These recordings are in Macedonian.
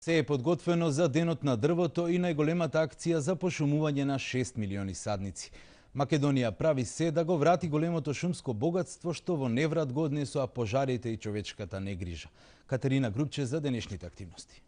Се е подготвено за Денот на дрвото и најголемата акција за пошумување на 6 милиони садници. Македонија прави се да го врати големото шумско богатство што во неврат го однесоа пожарите и човечката негрижа. Катерина Грубче за денешните активности.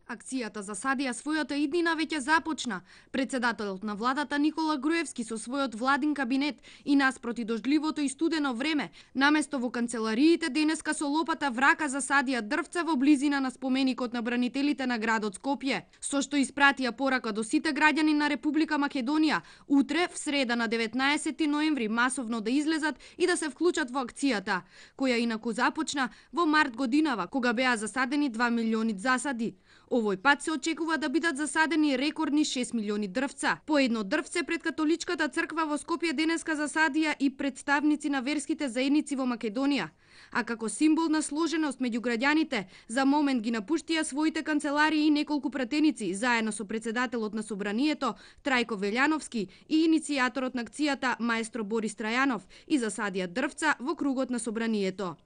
Акцијата за садија својата иднина веќе започна. Председателот на владата Никола Груевски со својот владин кабинет и наспроти дождливото и студено време, наместо во канцелариите денеска со лопата врака за садија дрвца во близина на споменикот на бранителите на градот Скопје, со што испратија порака до сите граѓани на Република Македонија утре, в среда на 19 ноември, масовно да излезат и да се вклучат во акцијата, која инаку започна во март годинава, кога беа засадени 2 милиони засади. Овој пат се очекува да бидат засадени рекордни 6 милиони дрвца. По едно дрвце пред католичката црква во Скопје денеска засадија и представници на верските заедници во Македонија. А како символ на сложеност меѓу граѓаните, за момент ги напуштија своите канцеларии и неколку пратеници, заедно со председателот на Собранието Трајко Велјановски и иницијаторот на акцијата маестро Борис Трајанов, и засадија дрвца во кругот на Собранието.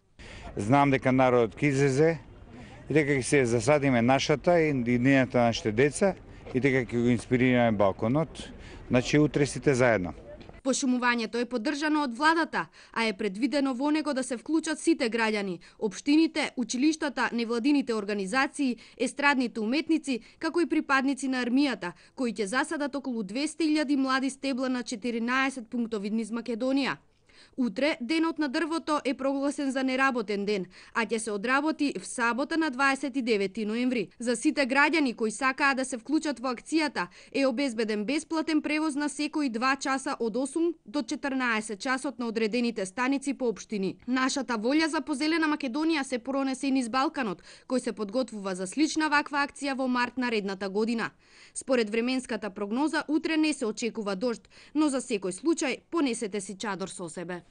Знам дека народот ќе излезе и дека ќе се засадиме нашата и иднината на нашите деца и дека ќе го инспирираме балконот, значи утре сите заедно. Пошумувањето е поддржано од владата, а е предвидено во него да се вклучат сите граѓани, општините, училиштата, невладините организации, естрадните уметници, како и припадници на армијата, кои ќе засадат околу 200.000 млади стебла на 14 пунктови низ Македонија. Утре, Денот на дрвото е прогласен за неработен ден, а ќе се одработи в сабота на 29 ноември. За сите граѓани кои сакаат да се вклучат во акцијата е обезбеден бесплатен превоз на секои 2 часа од 8 до 14 часот на одредените станици по општини. Нашата волја за позелена Македонија се пронесе и низ Балканот, кој се подготвува за слична ваква акција во март наредната година. Според временската прогноза, утре не се очекува дожд, но за секој случај понесете си чадор со себе.